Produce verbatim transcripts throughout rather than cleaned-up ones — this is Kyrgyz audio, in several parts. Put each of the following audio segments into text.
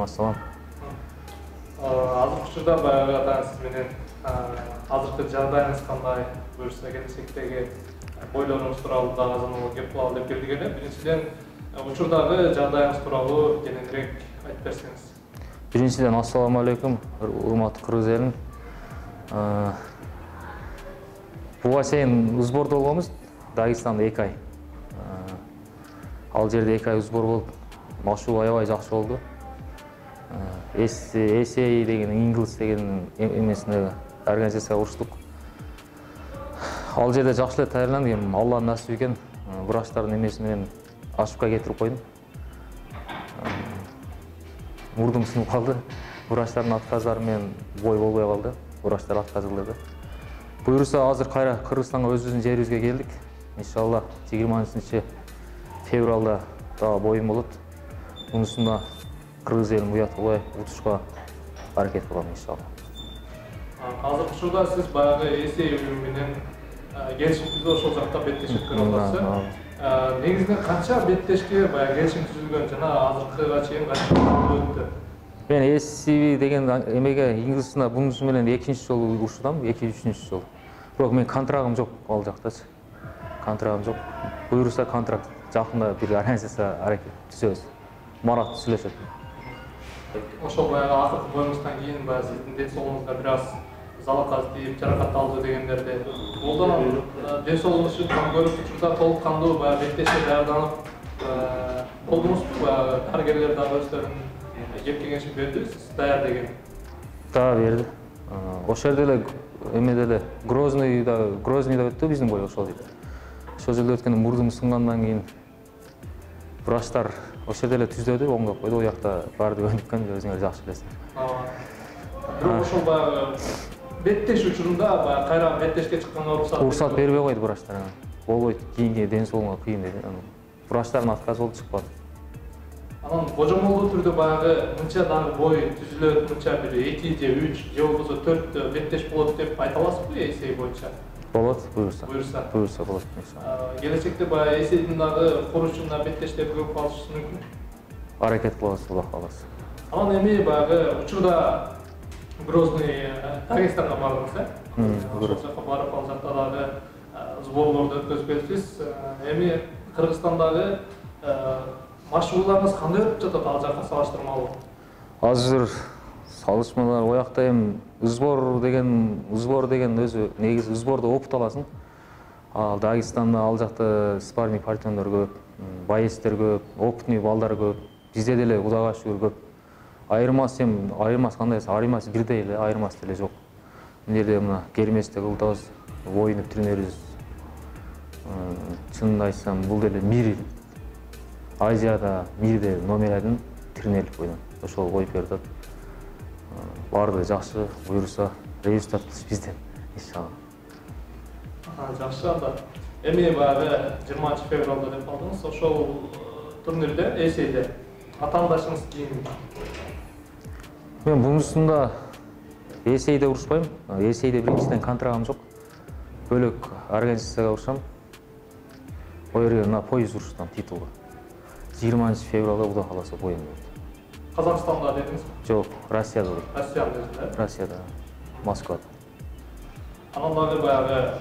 алейкум ассалам. Азыркы учурда баягы атаң сиз менен азыркы жагдайыңыз кандай, буюрса келечектеги ойлоруңуз тууралуу дагы азыр кеп кылалы деп келдик эле. Биринчиден, учурдагы жагдайыңыз тууралуу кененирээк айтып берсеңиз. Биринчиден, ассаламу алейкум, урматтуу кыргыз элим. Буга чейин сбордо болгонбуз, Дагестанда эки ай. Ал жерде эки ай сбор болуп, машыгуу аябай жакшы болду. эс эй деген, Инглис деген эмесине организацияга уруштук. Ал жерде жакшы эле даярдандык, эми Алланын насиби экен, врачтардын эмеси менен ошибка кетирип койдум. Мурдум сынып калды. Врачтардын отказдары менен бой болбой калды. Врачтар отказ кылды. Буюрса азыр кайра Кыргызстанга өзүбүздүн жерибизге келдик. Иншалла жыйырманчынчы февралда дагы боюм болот. Мунусунда кыргыз элин уяткылабай утушка аракет кылам иншалла. Азыркы учурда сиз баягы эс эй уюму менен келишим түзүп ошол жакта беттешип көрүп атасыз. Негизинен канча беттешке баягы келишим түзүлгөн жана азыркыга чейин канча өттү? Мен эс эй деген эмеге Инглисине бунусу менен экинчи жолу урушудам, эки-үчүнчү жол. Бирок мен контрагым жок ал жактачы. Контрагым жок. Буюрса контракт жакында бир организация аракет түзөбүз. Марат сүйлөшөт. Ошол баягы акыркы боюңуздан кийин баягы сиздин ден соолугуңузга бир аз залакат тийип, жаракат алды дегендерди. Олдон ден соолугуңуз үчүн кам көрүп учурда толук кандуу баягы беттешке даярданып болдуңузбу? Баягы дарыгерлер дагы өздөрүнүн кеп кеңешин берди, сиз даяр деген. Да, берди. Ошол жерде эле эмеде эле Грозныйда, Грознийда өттү биздин бой ошол жерде. Ошол жерде өткөндө мурдум сынгандан кийин врачтар ошол жерде эле түзөдү, оңдоп койду. Ал жакта баарды өнүккөн, өзүңөр жакшы билесиңер. Бирок ошол баягы беттеш учурунда баягы кайра беттешке чыкканга уруксат уруксат бербей койду врачтар. Болбойт, кийинки ден соолугуңа кыйын деди. Врачтардын отказы болду, чыкпады. Анан божомолдуу түрдө баягы мынча дагы бой түзүлөт, мынча бир эки же үч же болбосо төрт беттеш болот деп айта аласызбы эс эй боюнча? Болот, буюрса. Буюрса. Буюрса болот иншалла. Келечекте баягы эс эйдин дагы курушунда беттештер көп калышы мүмкүн. Аракет кылабыз, Алла кааласа. Анан эми баягы учурда Грозный Дагестанга бардыңыз, э? Ошол жака барып, ал жакта дагы сборлорду өткөзүп келипсиз. Эми Кыргызстандагы машыгууларыңыз кандай өтүп жатат ал жакка салыштырмалуу? Азыр салыштырмалар оякта эми сбор деген, сбор деген өзү негизи сбордо опыт аласың. Ал Дагестанда ал жакта спарринг партнерлер көп, боецтер көп, опытный балдар көп. Бизде деле Кудайга шүгүр көп. Айырмасы эми, айырмасы кандай? Айырмасы бирдей эле, айырмасы деле жок. Мына жерде мына керместе кылдабыз, оюнуп тренируйбуз. Чынын айтсам, бул деле мир Азияда мирде номер один тренерлик бойдон. Ошол коюп берип атат. Баарды жакшы, буюрса результат бизден иншалла. Жакшы анда. Эми баягы жыйырманчы февралда деп калдыңыз. Ошол турнирде, эс эйде атаандашыңыз ким? Мен бунусунда эс эйде урушпайм. эс эйде биринчиден контрагым жок. Бөлөк организацияга урушам. Ол жерге на пояс урушсам титулга. жыйырманчы февралда Кудай кааласа боюм болот. Казакстанда дедиңизби? Жок, Россияда болот. Россиянын өзүндө? Россияда, Москвада. Анан дагы баягы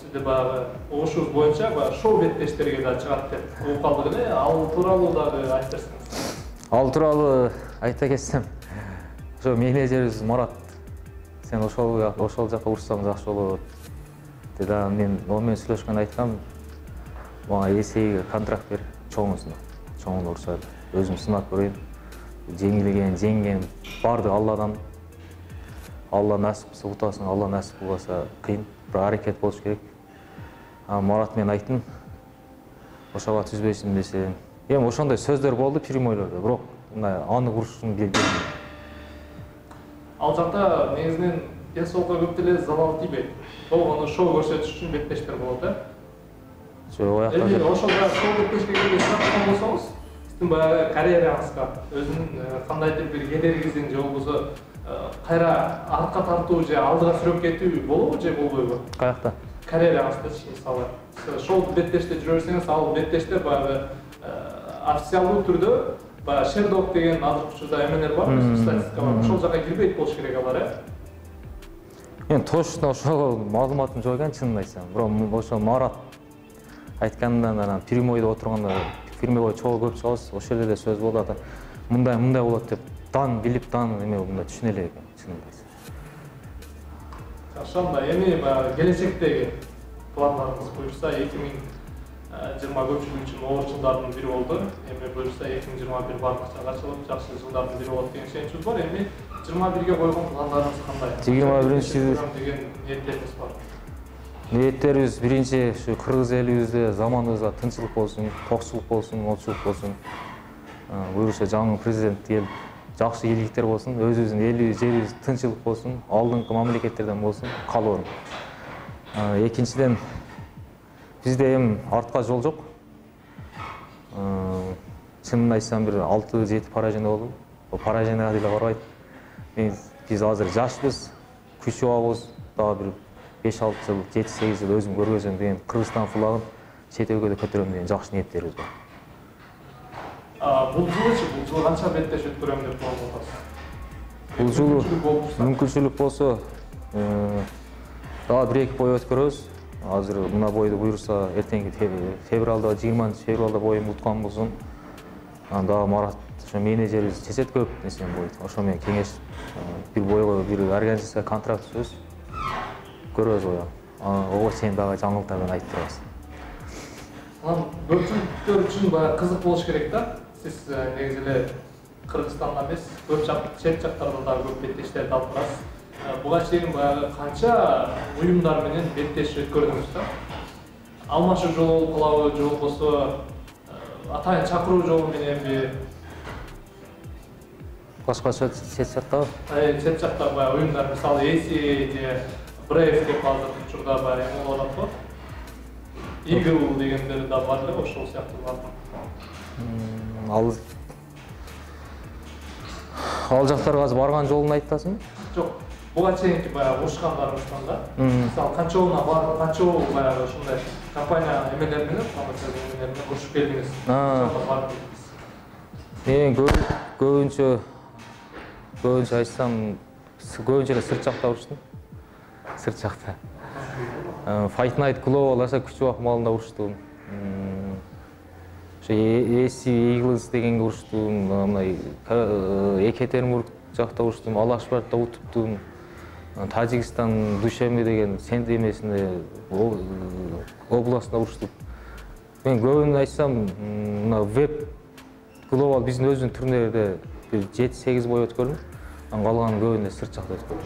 сизде баягы угушубуз боюнча баягы шоу беттештерге да чыгат деп угуп калдык эле. Ал тууралуу дагы айтып берсеңиз. Ал тууралуу айта кетсем, ошо менеджерибиз Марат, сен ошол ошол жака урушсаң жакшы болот деди. Мен ал менен сүйлөшкөндө айткам, мага эс эйге контракт бер, чоңусуна. Чоңуна урушайлы. Өзүм сынап көрөйүн. Жеңилген, жеңген барды Алладан. Алла насип кылса утасың, Алла насип кылбаса кыйын. Бир аракет болуш керек. Марат мен айттым. Ошого түзбөйсүң десе. Эми ошондой сөздөр болду прямойлордо, бирок мына аны урушун билбейм. Ал жакта негизинен ден соолукка көп деле залал тийбейт. Болгону шоу көрсөтүш үчүн беттештер болот, э? Жок, аякта. Эми ошол шоу беттешке келген болсоңуз, сиздин баягы карьераңызга өзүнүн кандайдыр бир кедергисин же болбосо кайра артка тартуу же алдыга сүрөп кетүү болобу же болбойбу? Каякта? Карьераңыздачы, мисалы, шоу беттеште жүрө берсеңиз, ал беттештер баягы официалдуу түрдө баягы Шердок деген азыркы учурда эмелер бар, статистика бар. Ошол жака кирбейт болуш керек алар, э? Мен точно ошол маалыматым жок экен, чынын айтсам. Бирок ошо Марат айткандан анан прямойдо отурганда, прямой чогуу көп чыгабыз, ошол жерде сөз болду. Мындай мындай болот деп дан билип, дан эме мындай түшүнө элек экен, чынын айтсам. Жакшы, анда эми баягы келечектеги пландарыңыз буюрса эки миң жыйырма көпчүлүк үчүн оор жылдардын бири болду. Эми буюрса эки миң жыйырма бир бардыкча ачылып, жакшы жылдардын бири болот деген ишеничибиз бар. Эми жыйырма бирге койгон пландарыңыз кандай? жыйырма биринчи деген ниеттериңиз бар. Ниеттерибиз биринчи ушу кыргыз элибизде заманыбызда тынччылык болсун, токчулук болсун, олчулук болсун. Буюрса жаңы президент келип, жакшы ийгиликтер болсун, өзүбүздүн элибиз, жерибиз тынччылык болсун, алдыңкы мамлекеттерден болсун, каалоорум. Экинчиден, бизде эми артка жол жок. Чынын айтсам бир алты жети поражение болду. Бул пораженияга деле карабайт. Биз азыр жашпыз, күчү багыбыз, дагы бир беш алты жыл, жети сегиз жыл өзүм көргөзөм деген Кыргызстан флагын чет өлкөдө көтөрөм деген жакшы ниеттерибиз бар. Бул жылычы, бул жыл канча беттеш өткөрөм деп болуп атасыз? Бул жылы мүмкүнчүлүк болсо, дагы бир эки бой өткөрөбүз. Азыр мына бойду буюрса, эртеңки февралда, жыйырманчы февралда боюм уткан болсун. Дагы Марат ошо менеджерибиз чечет көп нерсени бойт. Ошо менен кеңешип, бир бойго бир организация контракт түзөбүз. Көрөбүз ой. Ого чейин дагы жаңылыктар менен айтып турабыз. Анан көпчүлүктөр үчүн баягы кызык болуш керек да. Сиз негизи эле Кыргызстанда эмес, көп жак, чет жактарда дагы көп беттештерди алып барасыз. Буга чейин баягы канча уюмдар менен беттеш өткөрдүңүз да? Алмашуу жолу болуп калабы, же болбосо атайын чакыруу жолу мененби? Башкача чет жактабы? Чет жакта баягы уюмдар, мисалы Эси же Брейв деп азыркы учурда баягы эме болуп атат го. Игл дегендер да бар эле, ошол сыяктуулар. Ал Ал жактарга азыр барган жолун айтып атасыңбы? Жок. Буга чейинки баягы урушкандарыңыздан да. Мисалы канчоуна бар, канчоо баягы ушундай компания эмелер менен, эмелер менен урушуп келдиңиз. Мен көбүнчө көбүнчө айтсам, көбүнчө эле сырт жакта уруштум. Сырт жакта. Fight Night Global аса күчү акмалында уруштум. Ошо Эси Eagles дегенге уруштум, мына Екатеринбург жакта уруштум, Алашбартта утуптум. Тажикстан Душембе деген сент эмесинде областында уруштуп. Мен көбүн айтсам, мына веб глобал биздин өзүнүн турнирлерде бир жети сегиз бой өткөрдүм. Анан калганын көбүндө сырт жакта өткөрдүм.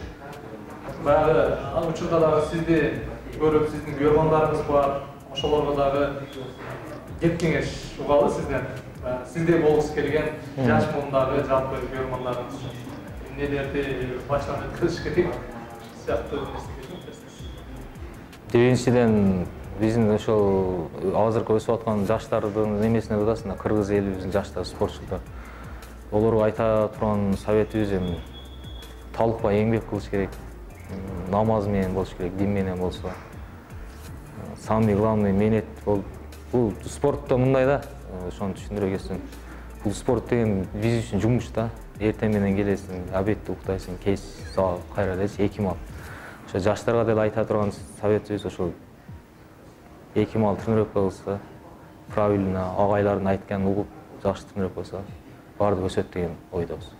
Баягы ал учурда дагы сизди көрүп, сиздин көргөндарыңыз бар. Ошолорго дагы кеп кеңеш угалы сизден. Сиздей болгусу келген жаш муундагы жалпы көргөндарыңыз эмнелерди баштан өткөрүш керек? Биринчиден биздин ошол азыркы өсүп аткан жаштардын эмесине дадасында кыргыз элибиздин жаштар спортчулар. Олорго айта турган советибиз эми талыкпай эмгек кылыш керек. Намаз менен болуш керек, дин менен болсо. Самый главный менет бул спортто мындай да, ошону түшүндүрө кетсем. Бул спорт деген биз үчүн жумуш да. Эртең менен келесиң, обедти уктайсың, кеч саат кайра элечи эки мал. Ошо жаштарга деле айта турган советибиз ошол эки мал тренировка кылса, правильно агайлардын айтканын угуп, жакшы тренировка кылса, баардыгы өсөт деген ойдобуз.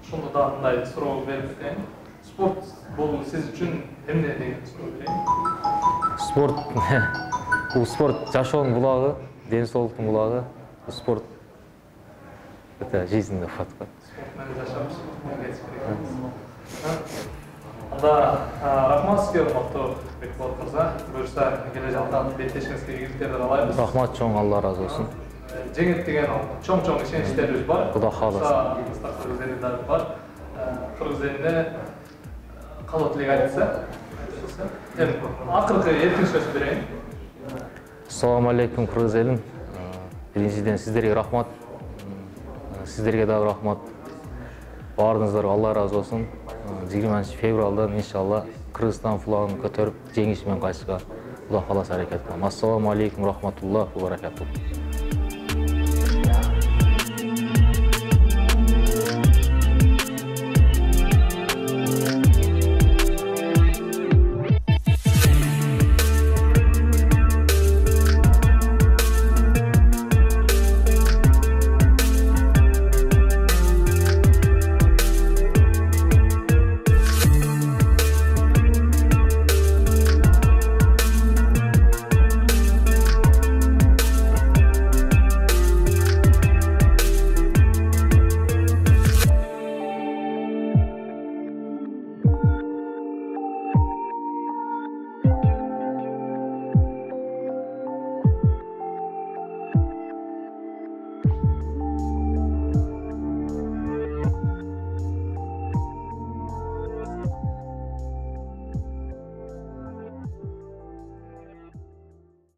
Ошондо да мындай суроо берип кетейин. Спорт бул сиз үчүн эмне деген суроо берейин? Спорт бул спорт жашоонун булагы, ден соолуктун булагы. Спорт это жизненный фактор. Спорт менен жашап Анда рахмат сизге, урматтуу Бекболот мырза. Буюрса келе жаткан беттешиңизге ийгиликтерди каалайбыз. Рахмат чоң, Алла разы болсун. Жеңет деген чоң-чоң ишеничтерибиз бар. Кудай кааласа. Кыргыз элинде бар. Кыргыз элине калуу тилек айтса. Эми акыркы эркин сөз берейин. Ассаламу алейкум кыргыз элим. Биринчиден сиздерге рахмат. Сиздерге дагы рахмат. Баарыңыздарга Алла разы болсун. жыйырманчы февралдан иншалла Кыргызстан флагын көтөрүп, жеңиш менен кайтышка Кудай кааласа аракет кылам. Ассаламу алейкум рахматуллах ва баракатух.